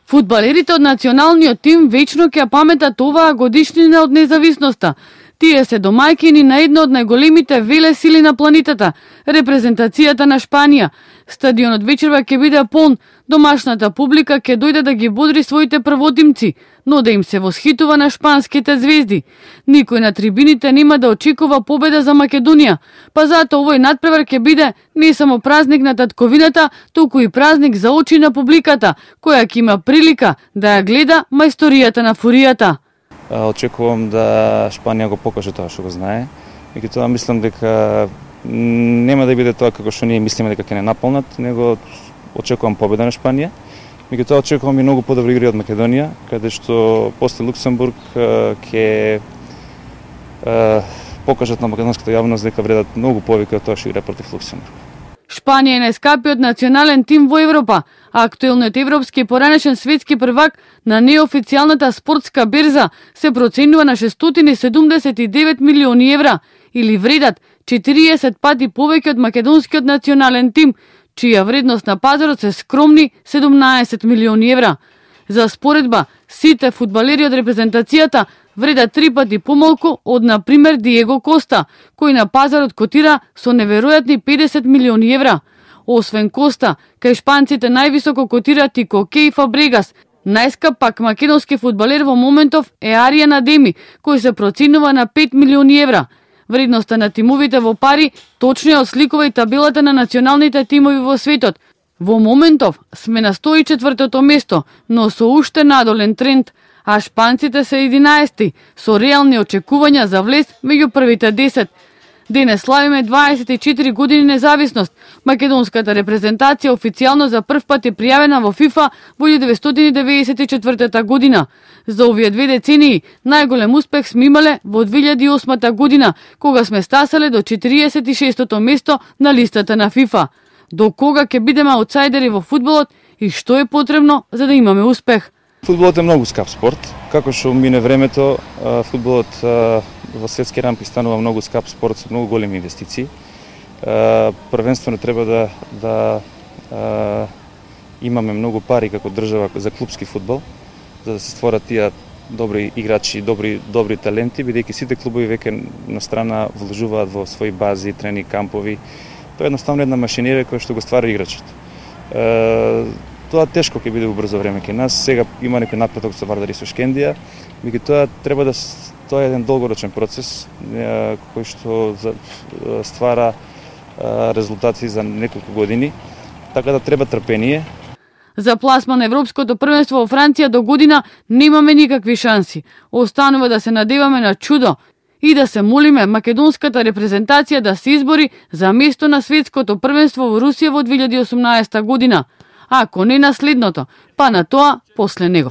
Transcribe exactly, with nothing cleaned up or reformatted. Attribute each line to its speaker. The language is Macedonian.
Speaker 1: Фудбалерите од националниот тим вечно ќе паметат оваа годишнина од независноста. Тие се домајќини на една од најголемите велесили на планетата, репрезентацијата на Шпанија. Стадионот вечерва ќе биде полн, домашната публика ќе дојде да ги бодри своите првотимци, но да им се восхитува на шпанските звезди. Никој на трибините нема да очекува победа за Македонија, па затоа овој надпревар ќе биде не само празник на татковината, туку и празник за очи на публиката, која ќе има прилика да ја гледа мајсторијата на фуријата.
Speaker 2: Очекувам да Шпанија го покаже тоа што го знае. Меѓутоа мислам дека нема да биде тоа како што ние мислиме дека ќе не наполнат, него очекувам победа на Шпанија. Меѓутоа очекувам и многу подобри игри од Македонија, каде што после Луксембург ќе покажат на македонската јавност дека вредат многу повеќе од тоа што игра против Луксембург.
Speaker 1: Шпанија е најскапиот национален тим во Европа, а актуелниот европски поранешен светски првак на неофицијалната спортска берза се проценува на шестстотини седумдесет и девет милиони евра, или вредат четириесет пати повеќе од македонскиот национален тим, чија вредност на пазарот се скромни седумнаесет милиони евра. За споредба, сите фудбалери од репрезентацијата вредат три пати помалку од, на пример, Диего Коста, кој на пазарот котира со неверојатни педесет милиони евра. Освен Коста, кај шпанците највисоко котират и Коке и Фабрегас. Најскап пак македонски фудбалер во моментов е Аријан Адеми, кој се проценува на пет милиони евра. Вредноста на тимовите во пари точно ја осликува и табелата на националните тимови во светот. Во моментов сме на сто и четвртото место, но со уште надолен тренд, а шпанците се единаесети, со реални очекувања за влез меѓу првите десет. Денес славиме дваесет и четири години независност. Македонската репрезентација официјално за прв пат е пријавена во ФИФА во илјадат деветстотини деветдесет и четвртата година. За овие две децении најголем успех сме имале во две илјади и осмата година, кога сме стасале до четириесет и шестото место на листата на ФИФА. До кога ќе бидеме аутсайдери во фудбалот и што е потребно за да имаме успех?
Speaker 2: Фудбалот е многу скап спорт. Како што мине времето, фудбалот во светски рамки станува многу скап спорт со многу големи инвестиции. Првенствено треба да, да имаме многу пари како држава за клупски фудбал, за да се створат тие добри играчи, добри добри таленти, бидејќи сите клубови веќе на страна вложуваат во своји бази, тренинг кампови. Тоа е едноставно една машинерија која што го ствара играчот. Тоа тешко ќе биде во брзо време кај нас. Сега има некој напредок со Вардари со Шкендија, меѓутоа треба да тоа е еден долгорочен процес кој што ствара резултати за неколку години, така да треба трпение.
Speaker 1: За пласма на Европското првенство во Франција до година немаме никакви шанси. Останува да се надеваме на чудо и да се молиме македонската репрезентација да се избори за место на светското првенство во Русија во две илјади и осумнаесета година. Ако не на следното, па на тоа после него.